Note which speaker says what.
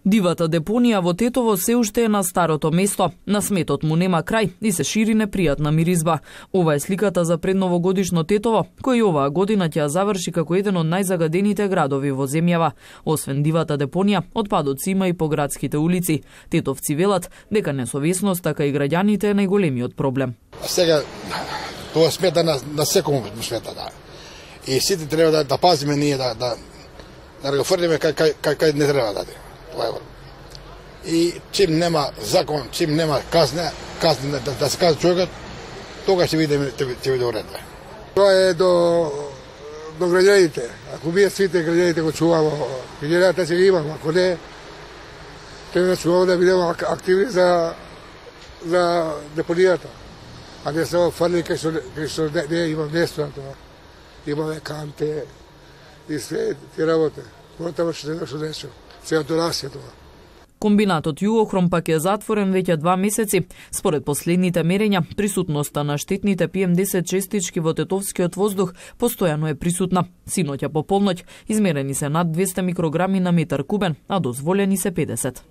Speaker 1: Дивата депонија во Тетово се уште е на старото место. На сметот му нема крај и се шири непријатна миризба. Ова е сликата за предновогодишно Тетово, кој оваа година ќе ја заврши како еден од најзагадените градови во земјава. Освен дивата депонија, отпадоци има и по градските улици. Тетовци велат дека несовесност, така и граѓаните е најголемиот проблем.
Speaker 2: Сега тоа смета на секому смета, да. И сите треба да пазиме ние да го фрлиме кај не треба да. И чим нема закон, чим нема казна да се казва човекот, тога ќе биде уред.
Speaker 3: Тоа е до граѓаните. Ако ние сите граѓаните го чувамо, граѓаните ќе ги имаме, ако не, треба да чуваме да бидеме активни за депонијата. А не само фарли кај што не има место на тоа. Имаме канте и све ти работе. Потоа што нешто нешто. Сега донасија тоа.
Speaker 1: Комбинатот Југохром пак е затворен веќе 2 месеци. Според последните мерења, присутноста на штетните PM10 честички во тетовскиот воздух постојано е присутна. Синоќа по полноќ измерени се над 200 микрограми на метар кубен, а дозволени се 50.